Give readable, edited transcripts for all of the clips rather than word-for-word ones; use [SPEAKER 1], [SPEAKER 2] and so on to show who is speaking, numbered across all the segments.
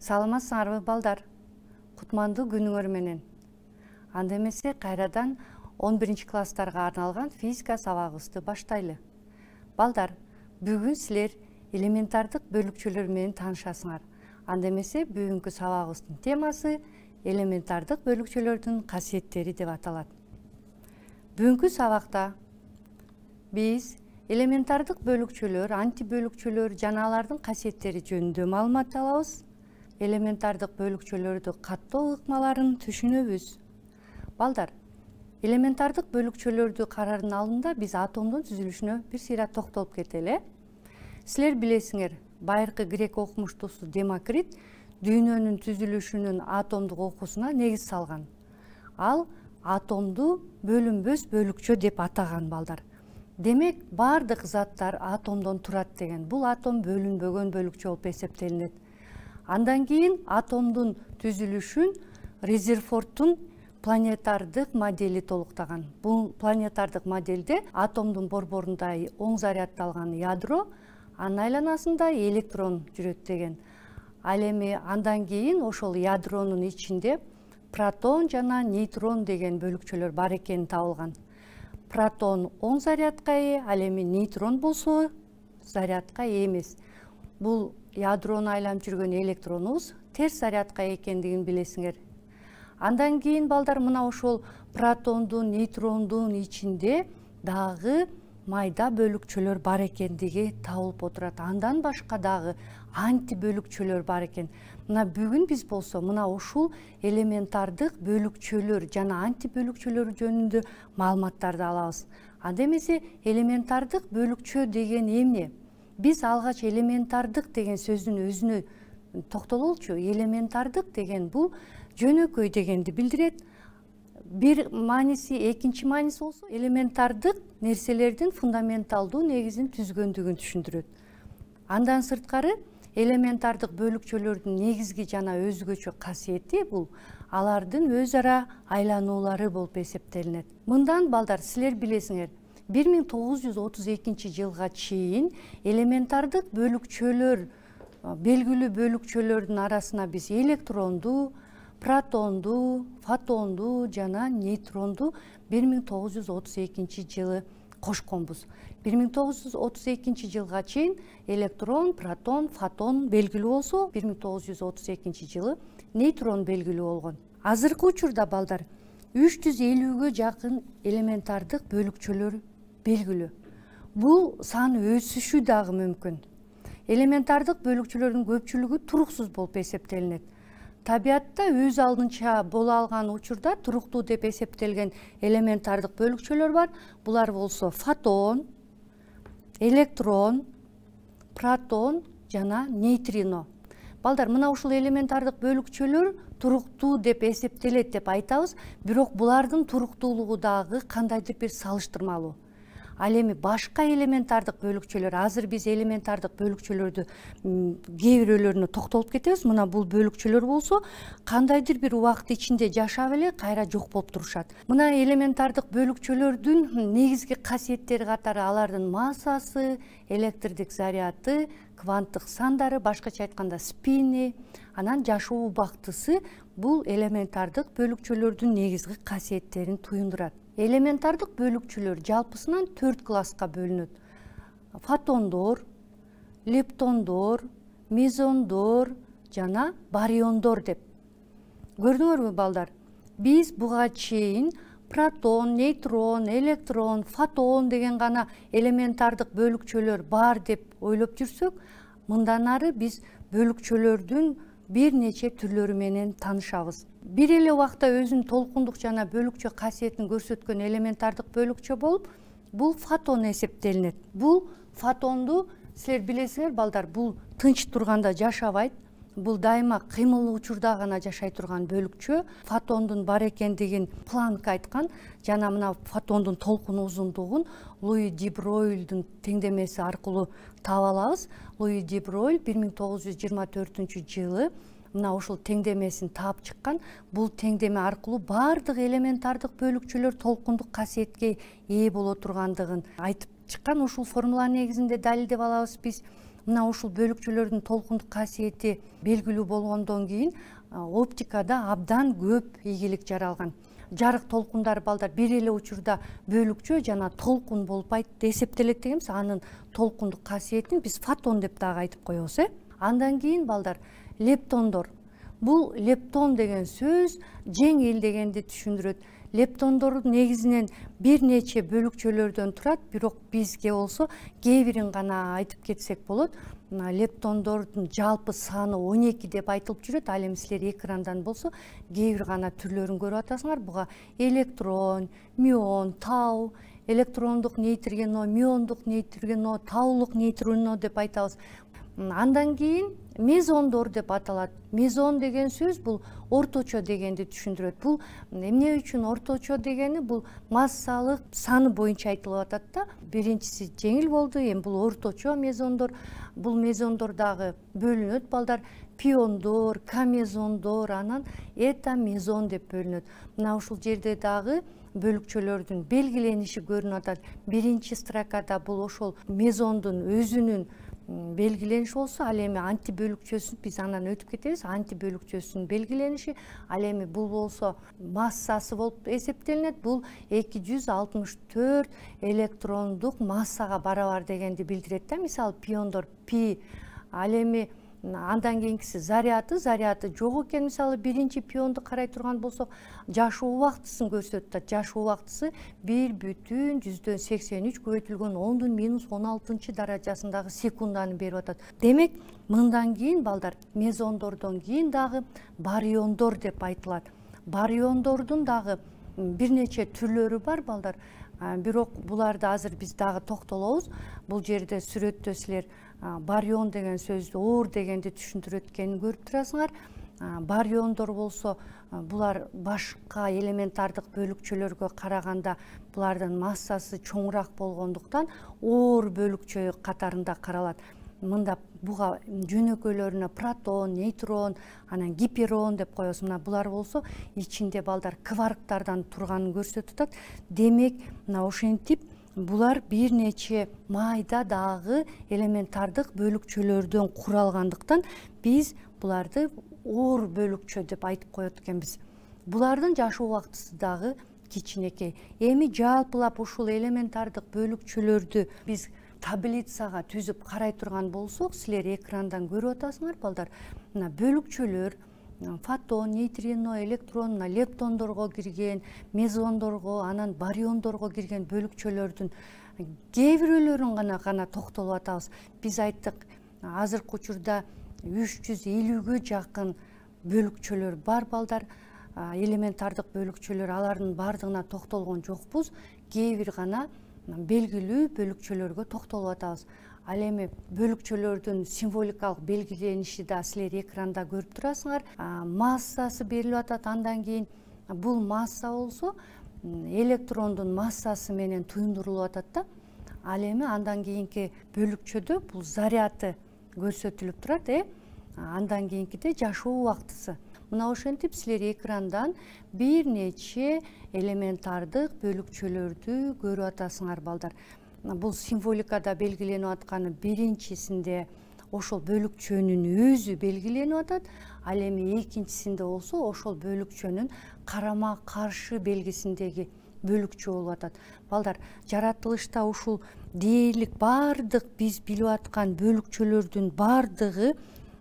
[SPEAKER 1] Саламатсыңарбы балдар? Кутмандуу күнүңөр менен. Анда эмесе кайрадан 11-класстарга арналган физика сабагыбызды баштайлы. Балдар, бүгүн силер элементардык бөлүкчөлөр менен таанышасыңар. Анда эмесе бүгүнкү сабагыбыздын темасы элементардык бөлүкчөлөрдүн касиеттери деп аталат. Бүгүнкү сабакта биз элементардык бөлүкчөлөр, антибөлүкчөлөр жана алардын касиеттери жөнүндө маалымат алабыз. Элементардык бөлүкчөлөрдү каттоо ыкмаларын түшүнөбүз. Балдар, элементардык бөлүкчөлөрдү караардын алдында биз атомдун түзүлүшүнө бир сыйра токтолуп кетели. Силер билесиңер, байыркы грек окумуштуусу Демокрит дүйнөнүн түзүлүшүнүн атомдук окуусуна негиз салган. Ал атомду бөлүнбөс бөлүкчө деп атаган балдар. Демек, бардык заттар атомдон турат деген. Бул атом бөлүнбөгөн бөлүкчө болуп эсептелинет. Андан кийин атомдун түзүлүшүн Резерфордтун планетардык модели толуктаган. Бул планетардык моделде атомдун борборунда оң заряддалган ядро, анын айланасында электрон жүрөт деген. Ал эми андан кийин ошол ядронун ичинде протон жана нейтрон деген бөлүкчөлөр бар экени табылган. Протон оң зарядка ээ, ал эми нейтрон болсо зарядка ээ эмес. Бул ядрону айланып жүргөн электронубуз терс зарядка экендигин билесиңер. Андан кийин балдар мына ошол протондун, нейтрондун ичинде дагы майда бөлүкчөлөр бар экендиги табылып отурат. Андан башка дагы антибөлүкчөлөр бар экен. Мына бүгүн биз болсо мына ушул элементардык бөлүкчөлөр жана антибөлүкчөлөр жөнүндө маалыматтарды алабыз. Анда эмесе элементардык бөлүкчө деген эмне? Биз алгач элементардык деген сөздүн өзүнө токтололучу. Элементардык деген бул жөнөкөй дегенди билдирет. Бир мааниси, экинчи мааниси болсо элементардык нерселердин фундаменталдуу негизин түзгөндүгүн түшүндүрөт. Андан сырткары элементардык бөлүкчөлөрдүн негизги жана өзгөчө касиети бул алардын өз ара айлануулары болуп эсептелинет. Мындан балдар силер билесиңер, 1932 жылга чейин элементардык бөлүкчөлөр, белгилүү бөлүкчөлөрдүн арасына биз электронду, протонду, фотонду жана нейтронду 1932 жылы кошконбуз. 1932 жылга чейин электрон, протон, фотон белгилүү болсо, 1932 жылы нейтрон белгилүү болгон. Азыркы учурда балдар 350-гө жакын элементардык бөлүкчөлөр белгилүү. Бул сан өсүшү дагы мүмкүн. Элементардык бөлүкчөлөрдүн көпчүлүгү туруксуз болуп эсептелинет. Табиатта өз алдынча боло алган учурда туруктуу деп эсептелген элементардык бөлүкчөлөр бар. Булар болсо фотон, электрон, протон жана нейтрино. Балдар, мына ушул элементардык бөлүкчөлөр туруктуу деп эсептелет деп айтабыз, бирок булардын туруктуулугу дагы кандайдыр бир салыштырмалуу. Ал эми башка элементардык бөлүкчөлөр, азыр биз элементардык бөлүкчөлөрдү кээ бирөөлөрүнө токтолуп кетебиз. Мына бул бөлүкчөлөр болсо кандайдыр бир убакыт ичинде жашап эле кайра жок болуп турушат. Мына элементардык бөлүкчөлөрдүн негизги касиеттери катары алардын массасы, электрдик заряды, кванттык сандары, башкача айтканда спини, анан жашоо убактысы бул элементардык бөлүкчөлөрдүн негизги касиеттерин туюндурат. Элементардык бөлүкчөлөр жалпысынан 4 класска бөлүнөт. Фотондор, лептондор, мезондор жана бариондор деп. Көрдүңөрбү балдар? Биз буга чейин протон, нейтрон, электрон, фотон деген гана элементардык бөлүкчөлөр бар деп ойлоп жүрсөк, мындан ары биз бөлүкчөлөрдүн бир нече түрлөрү менен таанышабыз. Бир эле убакта өзүнүн толкундук жана бөлүкчө касиетин көрсөткөн элементардык бөлүкчө болуп, бул фотон эсептелинет. Бул фотонду силер билесиңер балдар, бул тынч турганда жашабайт. Бул дайыма кыймылдуу учурда гана жашай турган бөлүкчө. Фотондун бар экендигин Планк айткан жана мына фотондун толкун узундугун Луи де Бройлдун теңдемеси аркылуу таап алабыз. Луи де Бройль 1924 жылы мына ушул теңдемесин таап чыккан. Бул теңдеме аркылуу бардык элементардык бөлүкчөлөр толкундук касиетке ээ боло тургандыгын айтып чыккан. Ушул формула негизинде далилдеп алабыз биз. мына ушул бөлүкчөлөрдүн толкундук касиети белгилүү болгондон кийин оптикада абдан көп ийгилик жаралган. Жарык толкундар балдар бир эле учурда бөлүкчө жана толкун болуп эсептелет дегенбиз. Анын толкундук касиетин биз фотон деп дагы айтып коебуз. Андан кийин балдар лептондор. Бул лептон деген сөз жеңил дегенди түшүндүрөт. Лептондор негизинен бир нече бөлүкчөлөрдөн турат, бирок бизге болсо кээ бирин гана айтып кетсек болот. Лептондордун жалпы саны 12 деп айтылып жүрөт. Ал эми силер экрандан болсо кээ бир гана түрлөрүн көрүп атасыңар. Буга электрон, мион, тау, электрондук нейтрино, миондук нейтрино, таулук нейтрино деп айтабыз. Андан кийин мезондор деп аталат. Мезон деген сөз бул орточо дегенди түшүндүрөт. Бул эмне үчүн орточо дегени бул массалык саны боюнча айтылып атат да. Биринчиси жеңил болду, эми бул орточо мезондор. Бул мезондор дагы бөлүнөт балдар. Пиондор, камезондор, анан этамезон деп бөлүнөт. Мына ушул жерде дагы бөлүкчөлөрдүн белгилениши көрүнүп атат. Биринчи строкада бул ошол мезондун өзүнүн белгилениши болсо, ал эми антибөлүкчөсүн биз анан өтүп кетебиз. Антибөлүкчөсүнүн белгилениши, ал эми бул болсо массасы болуп эсептелинет. Бул 264 электрондук массага барабар дегенди билдирет да. Мисалы пиондор пи, ал эми андан кийинкиси заряды жок экен. Мисалы биринчи пионду карай турган болсок, жашоо убактысын көрсөтүп атат. Жашоо убактысы 1,83 көбөйтүлгөн 10⁻16 даражасындагы секунданы берип атат. Демек, мындан кийин балдар мезондордон кийин дагы бариондор деп айтылат. Бариондордун дагы бир нече түрлөрү бар балдар. Бирок буларды азыр биз дагы токтолобуз. Бул жерде сүрөттө силер барион деген сөздү оор дегенди түшүндүрөт экенин көрүп турасыңар. Бариондор болсо булар башка элементардык бөлүкчөлөргө караганда булардын массасы чоңураак болгондуктан оор бөлүкчө катарында каралат. Мында буга жөнөкөйлөрүнө протон, нейтрон, анан гиперон деп коебуз. Мына булар болсо ичинде балдар кварктардан турганын көрсөтүп атат. Демек, мына ошентип булар бир нече майда дагы элементардык бөлүкчөлөрдөн куралгандыктан биз буларды оор бөлүкчө деп айтып коет экенбиз. Булардын жашоо убактысы дагы кичинекей. Эми жалпылап ушул элементардык бөлүкчөлөрдү биз таблицага түзүп карай турган болсок, силер экрандан көрүп атасыңар балдар. Мына бөлүкчөлөр фотон, нейтрино, электрон, лептондорго кирген, мезондорго, анан бариондорго кирген бөлүкчөлөрдүн кээ бирөөлөрүн гана токтолуп атабыз. Биз айттык, азыркы учурда 350гө жакын бөлүкчөлөр бар балдар. Элементардык бөлүкчөлөр, алардын бардыгына токтолгон жокпуз. Кээ бир гана белгилүү бөлүкчөлөргө токтолуп атабыз. Ал эми бөлүкчөлөрдүн символикалык белгилениши да силер экранда көрүп турасыңар. Массасы берилип атат. Андан кийин бул масса болсо электрондун массасы менен туюндурулуп атат да. Ал эми андан кийинки бөлүкчөдө бул заряды көрсөтүлүп турат. Андан кийинкиде жашоо убактысы. Мына ошентип силер экрандан бир нече элементардык бөлүкчөлөрдү көрүп атасыңар балдар. Бул символикада белгиленип атканы биринчисинде ошол бөлүкчөнүн өзү белгиленип атат. Ал эми экинчисинде болсо ошол бөлүкчөнүн карама каршы белгисиндеги бөлүкчө болуп атат. Балдар, жаратылышта ушул дээрлик бардык биз билип аткан бөлүкчөлөрдүн бардыгы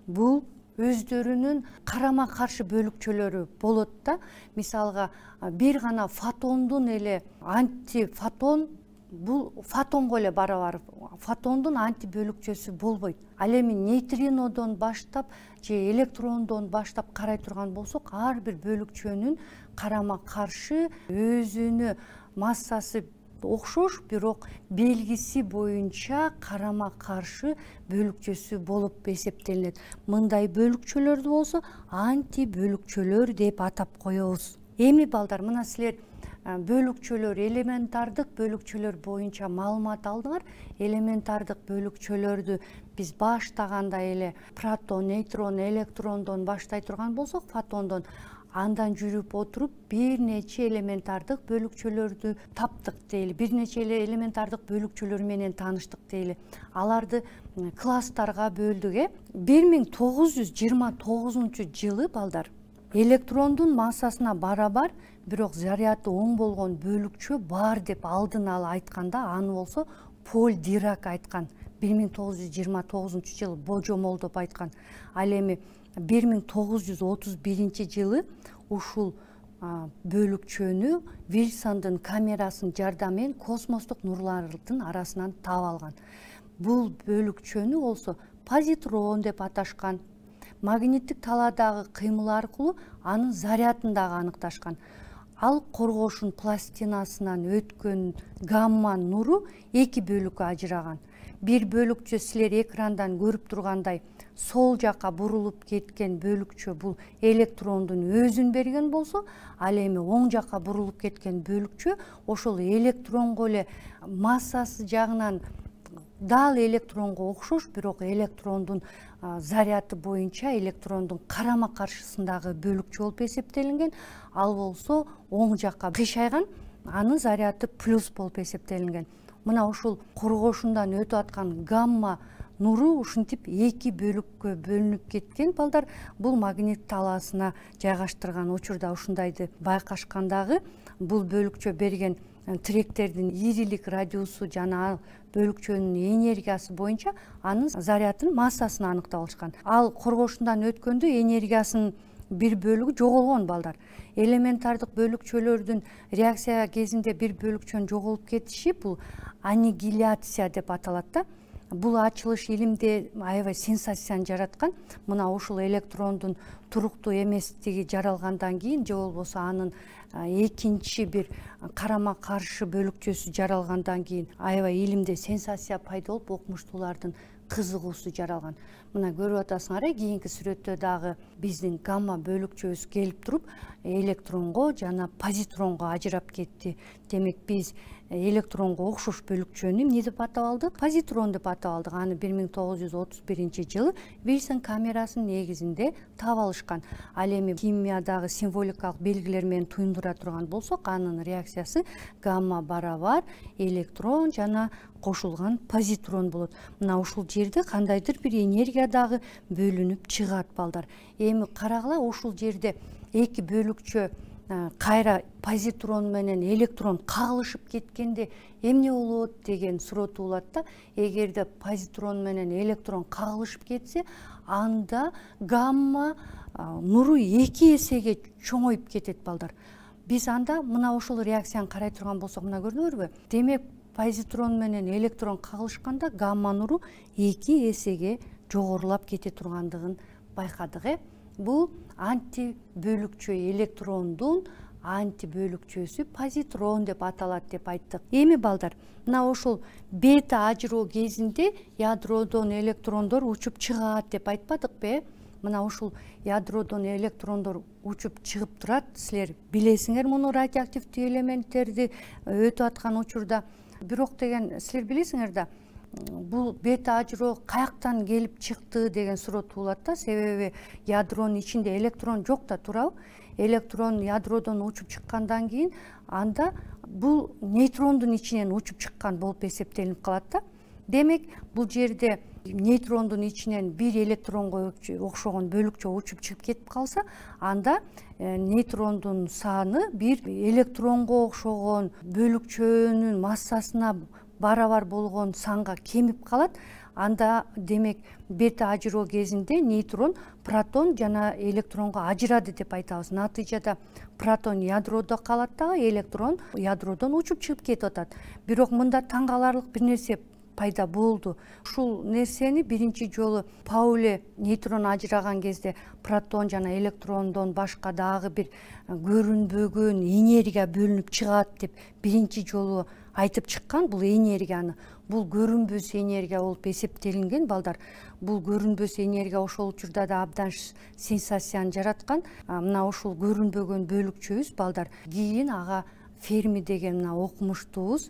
[SPEAKER 1] бул өздөрүнүн карама каршы бөлүкчөлөрү болот да. Мисалга бир гана фотондун эле антифотон бул фотонго эле барабар. Фотондун антибөлүкчөсү болбойт. Ал эми нейтринодон баштап же электрондон баштап карай турган болсок, ар бир бөлүкчөнүн карама каршы өзүнө массасы окшош, бирок белгиси боюнча карама каршы бөлүкчөсү болуп эсептелинет. Мындай бөлүкчөлөрдү болсо антибөлүкчөлөр деп атап коебуз. Эми балдар, мына силер бөлүкчөлөр, элементардык бөлүкчөлөр боюнча маалымат алдыңар. Элементардык бөлүкчөлөрдү биз баштаганда эле протон, нейтрон, электрондон баштай турган болсок, фотондон, андан жүрүп отуруп бир нече элементардык бөлүкчөлөрдү таптык дейли, бир нече элементардык бөлүкчөлөр менен тааныштык дейли. Аларды класстарга бөлдүк. 1929-жылы балдар электрондун массасына барабар, бирок заряды оң болгон бөлүкчө бар деп алдын ала айтканда, аны болсо Поль Дирак айткан. 1929-жылы божомолдоп айткан. Ал эми 1931-жылы ушул бөлүкчөнү Вильсондун камерасынын жардамы менен космостук нурлардын арасынан таап алган. Бул бөлүкчөнү болсо позитрон деп аташкан. Магниттик талаадагы кыймыл аркылуу анын зарядын дагы аныкташкан. Ал коргошун пластинасынан өткөн гамма нуру эки бөлүккө ажыраган. Бир бөлүкчө силер экрандан көрүп тургандай сол жакка бурулуп кеткен бөлүкчө бул электрондун өзүн берген болсо, ал эми оң жакка бурулуп кеткен бөлүкчө ошол электронго эле массасы жагынан дал электронго окшош, бирок электрондун заряды боюнча электрондун карама каршысындагы бөлүкчө болуп эсептелинген. Ал болсо оң жакка кыйшайган, анын заряды плюс болуп эсептелинген. Мына ушул коргошундан өтүп аткан гамма нуру ушинтип эки бөлүккө бөлүнүп кеткен балдар. Бул магнит талаасына жайгаштырган учурда ушундайды байкашкандагы, бул бөлүкчө берген тиректердин ийрилик радиусу жана ал бөлүкчөнүн энергиясы боюнча анын зарядын массасын аныктап алышкан. Ал коргошундан өткөндө энергиясынын бир бөлүгү жоголгон балдар. Элементардык бөлүкчөлөрдүн реакция кезинде бир бөлүкчөнүн жоголуп кетиши бул аннигиляция деп аталат да. Бул ачылыш илимде аябай сенсацияны жараткан. Мына ушул электрондун туруктуу эместиги жаралгандан кийин, же болбосо анын экинчи бир карама каршы бөлүкчөсү жаралгандан кийин аябай илимде сенсация пайда болуп, окумуштуулардын кызыгуусу жаралган. Мына көрүп атасыңар, кийинки сүрөттө дагы биздин гамма бөлүкчөбүз келип туруп электронго жана позитронго ажырап кетти. Демек биз электронго окшош бөлүкчөнү эмне деп атап алдык? Позитрон деп атап алдык. Аны 1931-жылы Вильсон камерасынын негизинде таап алышкан. Ал эми химиядагы символикалык белгилер менен туюндура турган болсок, анын реакциясы гамма барабар электрон жана кошулган позитрон болот. Мына ушул жерде кандайдыр бир энергия дагы бөлүнүп чыгат балдар. Эми карагыла, ушул жерде эки бөлүкчө кайра позитрон менен электрон кагылышып кеткенде эмне болот деген суроо туулат да. Эгерде позитрон менен электрон кагылышып кетсе, анда гамма нуру эки эсеге чоңоюп кетет балдар. Биз анда мына ушул реакцияны карай турган болсок, мына көрдүңөрбү? Демек позитрон менен электрон кагылышканда гамма нуру эки эсеге жогорулап кете тургандыгын байкадык. Бул антибөлүкчө электрондун антибөлүкчөсү позитрон деп аталат деп айттык. Эми балдар, мына ушул бета ажыроо кезинде ядродон электрондор учуп чыгат деп айтпадыкпы? Мына ушул ядродон электрондор учуп чыгып турат. Силер билесиңер муну радиоактивдүү элементтерди өтүп аткан учурда. Бирок деген силер билесиңер да, бул бета ажыроо каяктан келип чыкты деген суроо туулат да. Себеби ядронун ичинде электрон жок да, туурабы? Электрон ядродон учуп чыккандан кийин анда бул нейтрондун ичинен учуп чыккан болуп эсептелип калат да. Демек бул жерде нейтрондун ичинен бир электронго окшогон бөлүкчө учуп чыгып кетип калса, анда нейтрондун саны бир электронго окшогон бөлүкчөнүн массасына барабар болгон санга кемип калат. Анда демек бета ажыроо кезинде нейтрон протон жана электронго ажырады деп айтабыз. Натыйжада протон ядродо калат дагы, электрон ядродон учуп чыгып кетип атат. Бирок мында таң каларлык бир нерсе пайда болду. Ушул нерсени биринчи жолу Пауле нейтрон ажыраган кезде протон жана электрондон башка дагы бир көрүнбөгөн энергия бөлүнүп чыгат деп биринчи жолу айтып чыккан. Бул энергияны, бул көрүнбөс энергия болуп эсептелинген балдар. Бул көрүнбөс энергия ошол учурда да абдан сенсацияны жараткан. Мына ушул көрүнбөгөн бөлүкчөбүз балдар. Кийин ага Ферми деген мына окумуштуубуз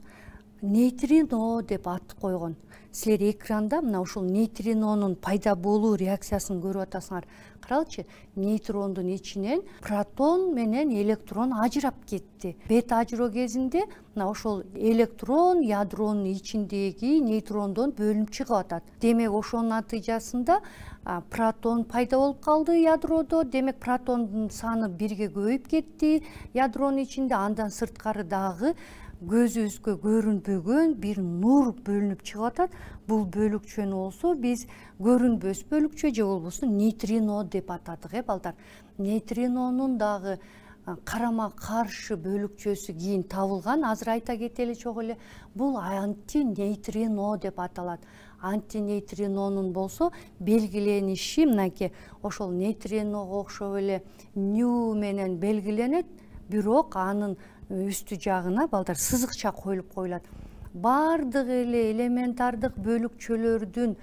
[SPEAKER 1] нейтрино деп ат койгон. Силер экранда мына ушул нейтринонун пайда болуу реакциясын көрүп атасыңар. Каралычы, нейтрондун ичинен протон менен электрон ажырап кетти. Бета ажыроо кезинде мына ошол электрон ядронун ичиндеги нейтрондон бөлүнүп чыгып атат. Демек ошонун натыйжасында протон пайда болуп калды ядроодо. Демек протондун саны бирге көбөйүп кетти ядронун ичинде. Андан сырткары дагы көзүбүзгө көрүнбөгөн бир нур бөлүнүп чыгып атат. Бул бөлүкчөнү болсо биз көрүнбөс бөлүкчө же болбосо нейтрино деп атадык, балдар. Нейтринонун дагы карама каршы бөлүкчөсү кийин табылган. Азыр айта кетели чогуу эле. Бул антинейтрино деп аталат. Антинейтринонун болсо белгилениши мынакей ошол нейтриного окшоп эле ню менен белгиленет, бирок анын үстү жагына балдар сызыкча коюлуп коюлат. Бардык эле элементардык бөлүкчөлөрдүн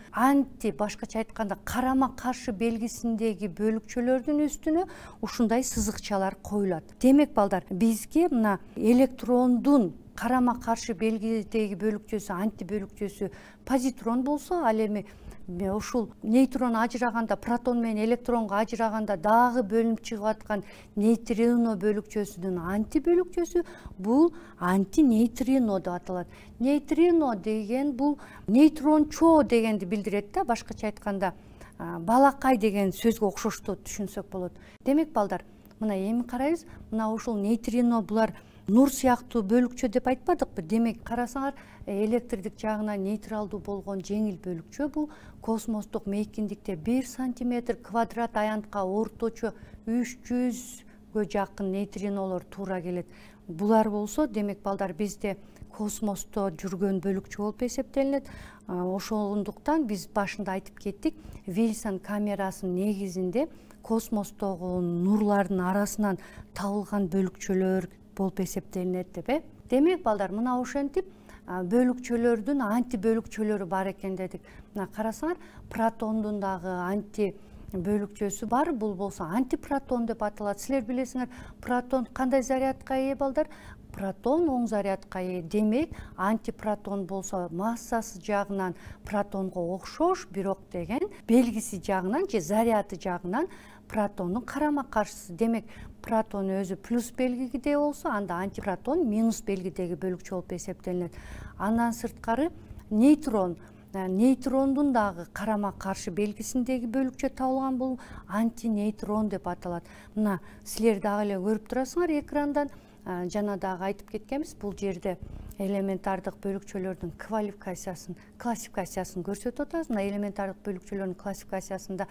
[SPEAKER 1] башкача айтканда карама каршы белгисиндеги бөлүкчөлөрдүн үстүнө ушундай сызыкчалар коюлат. Демек балдар, бизге мына электрондун карама каршы белгидеги бөлүкчөсү, антибөлүкчөсү позитрон болсо, ал эми ушул нейтрон ажыраганда, протон менен электронго ажыраганда дагы бөлүнүп чыгып аткан нейтрино бөлүкчөсүнүн антибөлүкчөсү бул антинейтрино деп аталат. Нейтрино деген бул нейтрончо дегенди билдирет да, башкача айтканда балакай деген сөзгө окшоштуу түшүнсөк болот. Демек балдар, мына эми карайбыз, мына ушул нейтрино булар нур сыяктуу бөлүкчө деп айтпадыкпы? Демек карасаңар, электрдик жагынан нейтралдуу болгон жеңил бөлүкчө бул космостук мейкиндикте 1 сантиметр квадрат аянтка орточо 300гө жакын нейтринолор туура келет. Булар болсо, демек балдар, бизде космосто жүргөн бөлүкчө болуп эсептелинет. Ошондуктан биз башында айтып кеттик, Вильсон камерасынын негизинде космостогу нурлардын арасынан табылган бөлүкчөлөр болуп эсептелинет деп. Демек балдар, мына ошентип бөлүкчөлөрдүн антибөлүкчөлөрү бар экен дедик. Мына карасаңар, протондун дагы антибөлүкчөсү бар. Бул болсо антипротон деп аталат. Силер билесиңер, протон кандай зарядка ээ балдар? Протон оң зарядка ээ. Демек, антипротон болсо массасы жагынан протонго окшош, бирок деген белгиси жагынан же заряды жагынан протондун карама каршысы. Демек, протон өзү плюс белгиде болсо, анда антипротон минус белгидеги бөлүкчө болуп эсептелинет. Андан сырткары нейтрондун дагы карама каршы белгисиндеги бөлүкчө табылган, бул антинейтрон деп аталат. Мына силер дагы эле көрүп турасыңар экрандан. Жана дагы айтып кеткенбиз, бул жерде элементардык бөлүкчөлөрдүн классификациясын көрсөтүп атабыз. Мына элементардык бөлүкчөлөрдүн классификациясында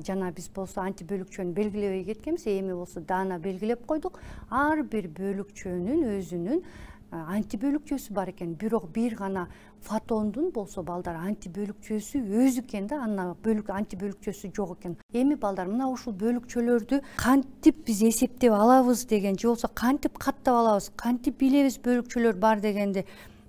[SPEAKER 1] жана биз болсо антибөлүкчөнү белгилебей кеткенбиз, эми болсо даана белгилеп койдук. Ар бир бөлүкчөнүн өзүнүн антибөлүкчөсү бар экен. Бирок бир гана фотондун болсо балдар антибөлүкчөсү өз экен да, анын антибөлүкчөсү жок экен. Эми балдар, мына ушул бөлүкчөлөрдү кантип биз эсептеп алабыз деген, же болсо кантип каттап алабыз, кантип билебиз бөлүкчөлөр бар дегенди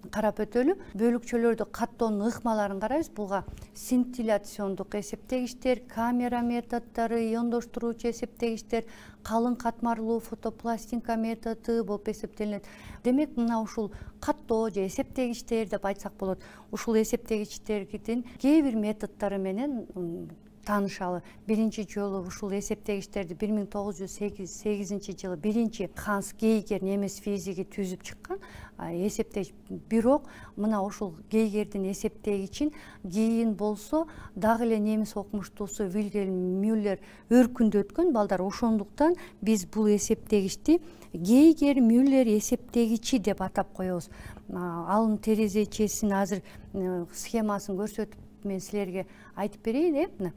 [SPEAKER 1] карап өтөлү. Бөлүкчөлөрдү каттоонун ыкмаларын карайбыз. Буга синтилляциондук эсептегичтер, камера методдору, иондоштуруучу эсептегичтер, калың катмарлуу фотопластинка методу болуп эсептелинет. Демек, мына ушул каттоо же эсептегичтер деп айтсак болот. Ушул эсептегичтердин кээ бир методдору менен таанышалы. Биринчи жолу ушул эсептегичтерди 1908 жылы биринчи Ханс Гейгер немис физиги түзүп чыккан эсептегич. Бирок мына ушул Гейгердин эсептегичин кийин болсо дагы эле немис окумуштуусу Вильгельм Мюллер өркүндөткөн балдар. Ошондуктан биз бул эсептегичти Гейгер Мюллер эсептегичи деп атап коебуз. Анын терезечесин азыр схемасын көрсөтүп мен силерге айтып берейин.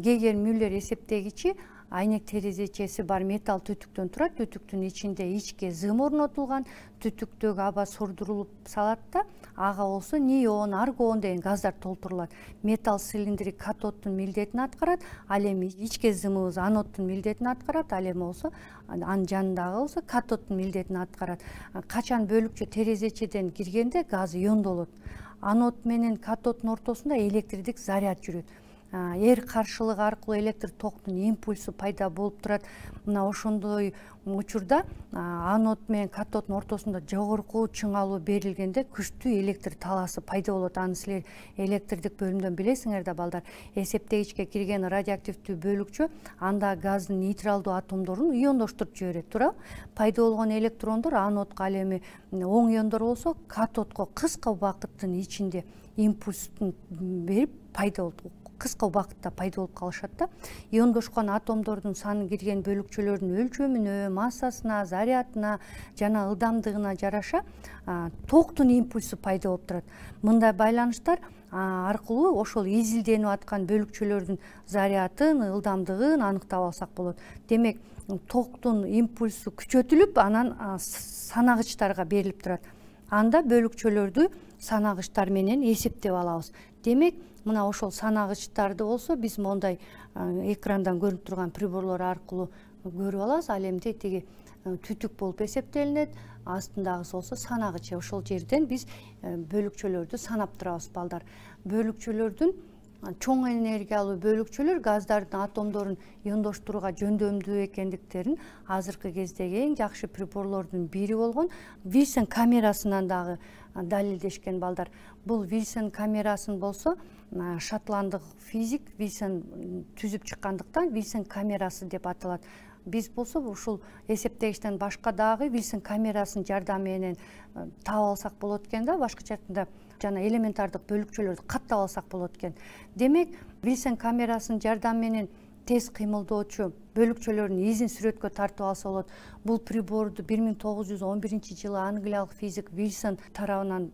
[SPEAKER 1] Гейгер Мюллер эсептегичи айнек терезечеси бар металл түтүктөн турат. Түтүктүн ичинде ичке зым орнотулган. Түтүктөгү аба сордурулуп салат да, ага болсо неон, аргон деген газдар толтурулат. Металл цилиндри катоддун милдетин аткарат, ал эми ичке зымыбыз аноддун милдетин аткарат, ал эми болсо анын жанындагы болсо катоддун милдетин аткарат. Качан бөлүкчө терезечеден киргенде газ иондолот. Анод менен катоддун ортосунда электрдик заряд жүрөт. эр каршылыгы аркылуу электр токтун импульсу пайда болуп турат. Мына ошондой учурда анод менен катоддун ортосунда жогорку чыңалуу берилгенде күчтүү электр талаасы пайда болот. Аны силер электрдик бөлүмдөн билесиңер да балдар. Эсептегичке кирген радиоактивдүү бөлүкчө анда газдын нейтралдуу атомдорун иондоштуруп жиберет, туурабы? Пайда болгон электрондор анодко, ал эми оң иондор болсо катодко кыска убакыттын ичинде импульстун берип пайда болот. Кыска убакытта пайда болуп калышат да. Иондошкон атомдордун саны кирген бөлүкчөлөрдүн өлчөмүнө, массасына, зарядына жана ылдамдыгына жараша токтун импульсу пайда болуп турат. Мындай байланыштар аркылуу ошол изилденип аткан бөлүкчөлөрдүн зарядын, ылдамдыгын аныктап алсак болот. Демек, токтун импульсу күчөтүлүп, анан санагычтарга берилип турат. Анда бөлүкчөлөрдү санагычтар менен эсептеп алабыз. Демек, мына ошол санагычтарды болсо биз мондай экрандан көрүнүп турган приборлор аркылуу көрүп алабыз. Ал эмне тиги түтүк болуп эсептелинет, астындагысы болсо санагыч. Ошол жерден биз бөлүкчөлөрдү санап турабыз балдар. Бөлүкчөлөрдүн чоң энергиялуу бөлүкчөлөр газдардын атомдорун иондоштурууга жөндөмдүү экендиктерин азыркы кездеги эң жакшы приборлордун бири болгон Вильсон камерасынан дагы далилдешкен балдар. Бул Вильсон камерасын болсо шотландык физик Вильсон түзүп чыккандыктан Вильсон камерасы деп аталат. Биз болсо ушул эсептегичтен башка дагы Вильсон камерасынын жардамы менен таап алсак болот экен да, башкача айтканда жана элементардык бөлүкчөлөрдү каттап алсак болот экен. Демек, Вильсон камерасынын жардамы менен тез кыймылдоочу бөлүкчөлөрдүн изин сүрөткө тартып алса болот. Бул приборду 1911-жылы англиялык физик Вильсон тарабынан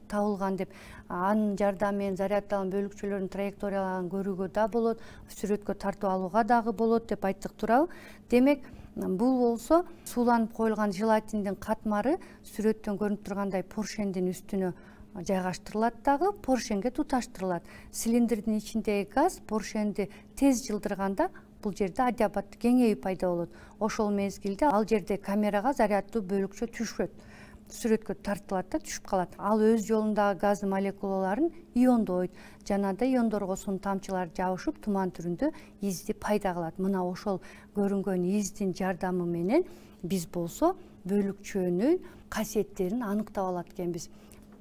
[SPEAKER 1] табылган деп, анын жардамы менен заряддалган бөлүкчөлөрдүн траекторияларын көрүүгө да болот, сүрөткө тартып алууга дагы болот деп айттык, туурабы? Демек, бул болсо сууланып коюлган желатиндин катмары сүрөттөн көрүнүп тургандай поршендин үстүнө жайгаштырылат дагы, поршенге туташтырылат. Цилиндрдин ичиндеги газ поршенди тез жылдырганда бул жерде адиабат кеңейүү пайда болот. Ошол мезгилде ал жерде камерага заряддуу бөлүкчө түшөт. Сүрөткө тартылат да, түшүп калат. Ал өз жолундагы газ молекулаларын иондойт. Жана да иондорго суу тамчылары жабышып, туман түрүндө изди пайда кылат. Мына ошол көрүнгөн издин жардамы менен биз болсо бөлүкчөнүн касиеттерин аныктап алат экенбиз.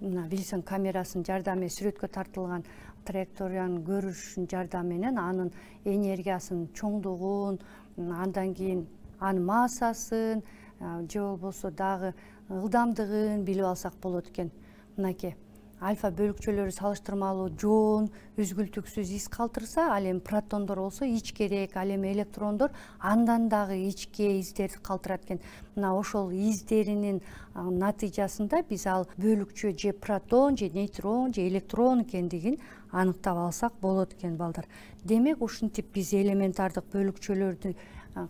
[SPEAKER 1] Мына Вильсон камерасынын жардамы менен сүрөткө тартылган траекторияны көрүштүн жардамы менен анын энергиясынын чоңдугун, андан кийин анын массасын же болбосо дагы ылдамдыгын билип алсак болот экен. Мынакей альфа бөлүкчөлөрү салыштырмалуу жоон, үзгүлтүксүз из калтырса, ал эми протондор болсо ичкерээк, ал эми электрондор андан дагы ичке издерди калтырат экен. Мына ошол издеринин натыйжасында биз ал бөлүкчө же протон, же нейтрон, же электрон экендигин аныктап алсак болот экен балдар. Демек, ушинтип биз элементардык бөлүкчөлөрдү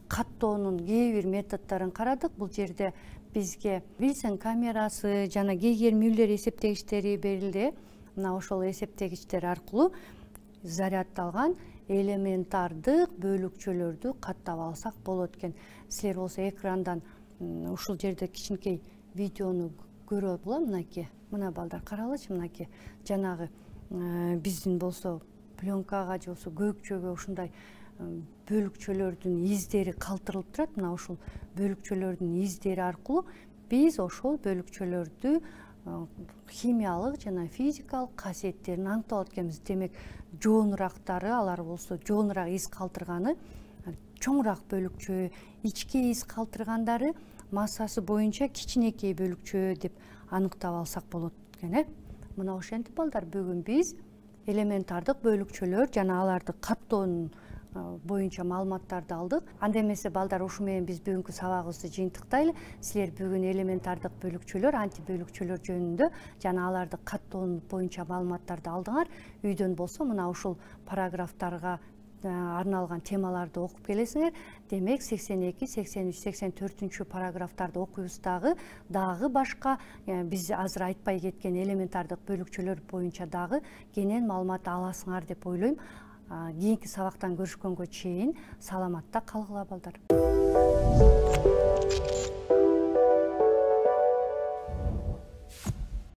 [SPEAKER 1] каттоонун кээ бир методдорун карадык. Бул жерде бизге Вильсон камерасы жана Гейгер-Мюллер эсептегичтери берилди. Мына ошол эсептегичтер аркылуу заряддалган элементардык бөлүкчөлөрдү каттап алсак болот экен. Силер болсо экрандан ушул жерде кичинекей видеону көрө болот. Мынакей, мына балдар каралычы, мынакей жанагы биздин болсо пленкага же болсо көйүкчөгө ушундай бөлүкчөлөрдүн издери калтырылып турат. Мына ушул бөлүкчөлөрдүн издери аркылуу биз ошол бөлүкчөлөрдү химиялык жана физикалык касиеттерин аныктап алат экенбиз. Демек, жоонурактары, алар болсо жоонураак из калтырганы чоңураак бөлүкчө, ичке из калтыргандары массасы боюнча кичинекей бөлүкчө деп аныктап алсак болот экен. Мына ошентип балдар, бүгүн биз элементардык бөлүкчөлөр жана аларды каттоонун боюнча маалыматтарды алдык. Анда эмесе балдар, ушу менен биз бүгүнкү сабагыбызды жыйынтыктайлы. Силер бүгүн элементардык бөлүкчөлөр, антибөлүкчөлөр жөнүндө жана аларды каттоон боюнча маалыматтарды алдыңар. Үйдөн болсо мына ушул параграфтарга арналган темаларды окуп келесиңер. Демек, 82, 83, 84 параграфтарды окуйбуз дагы башка биз азыр айтпай кеткен элементардык бөлүкчөлөр боюнча дагы кенен маалымат аласыңар деп ойлойм. Кийинки сабактан көрүшкөнгө чейин саламатта калгыла балдар.